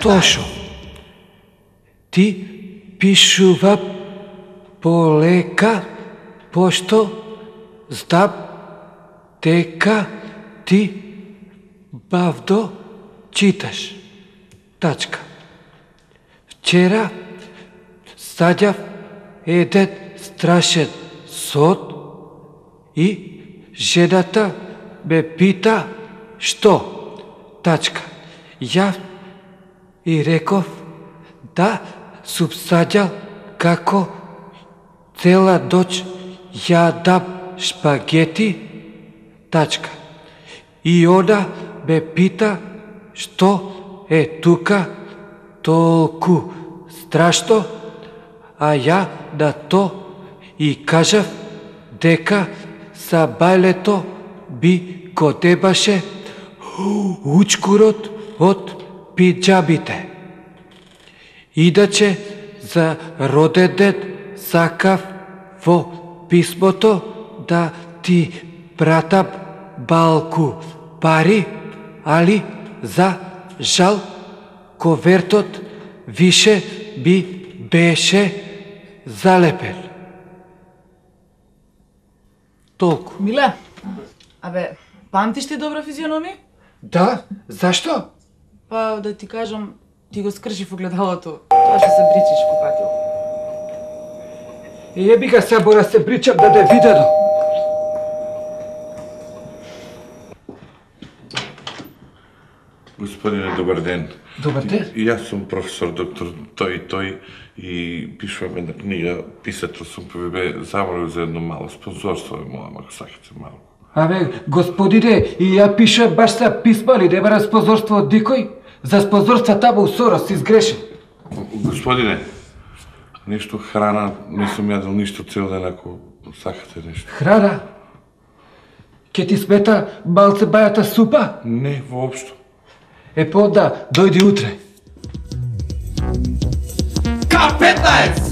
Тошо. Ти пишува полека, пошто знам дека ти бавно читаш. Тачка. Вчера саѓав еден страшен сон и жената ме пита што. Тачка. Ја и реков да сум саѓал како цела ноќ јадам шпагети. Тачка. И она ме пита што е тука толку страшно, а ја на то и кажав дека за бајлето би го дебаше учкурот од пиджамите. Иначе за роден ден сакав во писмото да ти пратам малку пари, али за жал ковертот више би беше залепен. Толку. Миле, памтиш ти добра физиономија? Да, зашто? Па да ти кажам, ти го скрши в огледалото. Тоа што се бричиш купатил. Еби га се бора се бричам да те видено. Господине, добар ден. Добар ден. Јас сум професор доктор тој и пишувам една книга, писател сум, бе замолил за едно мало спонзорство, молам ако сакате малку. Господине, и ја пишам баш са писма ли, не бара спонзорство од дикој? За спонзорства таму у Сорос си сгрешен. Господине, нешто храна, не сум јадел ништо цел ден, ако сакате нешто. Храна? Ке ти смета малце бајата супа? Не, воопшто. Е, понда, дојди утре. K15!